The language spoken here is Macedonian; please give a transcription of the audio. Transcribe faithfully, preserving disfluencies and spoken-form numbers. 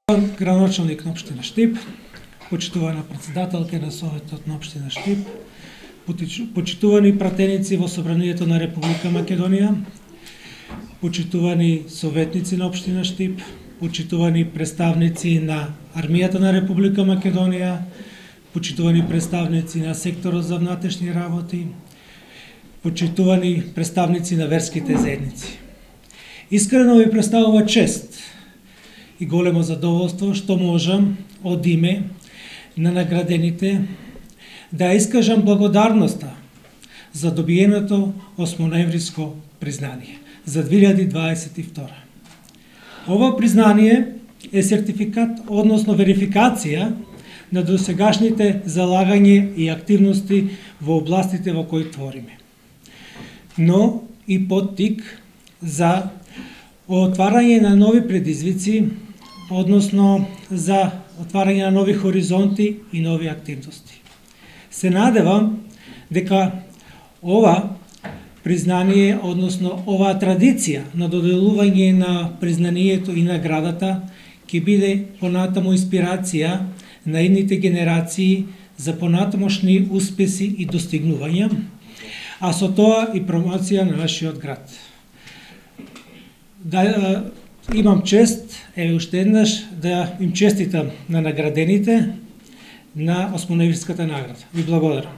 Градоначалник на општина Штип, почитувана председателка на Советот на општина Штип, почитувани пратеници во Собранието на Република Македонија, почитувани советници на општина Штип, почитувани представници на Армијата на Република Македонија, почитувани представници на секторот за внатрешни работи, почитувани представници на верските заедници. Искрено ви представува чест и големо задоволство што можам од име на наградените да искажам благодарноста за добиеното осмоноемвриско признание за две илјади дваесет и втора. Ова признание е сертификат, односно верификација на досегашните залагање и активности во областите во кои твориме, но и поттик за отварање на нови предизвици, односно за отварање на нови хоризонти и нови активности. Се надевам дека ова признание, односно оваа традиција на доделување на признанието и наградата ќе биде понатаму инспирација на идните генерации за понатамошни успеси и достигнувања, а со тоа и промоција на нашиот град. Да, имам чест, еве уште еднаш, да им честитам на наградените на осмоноемвриската награда. Ви благодарам.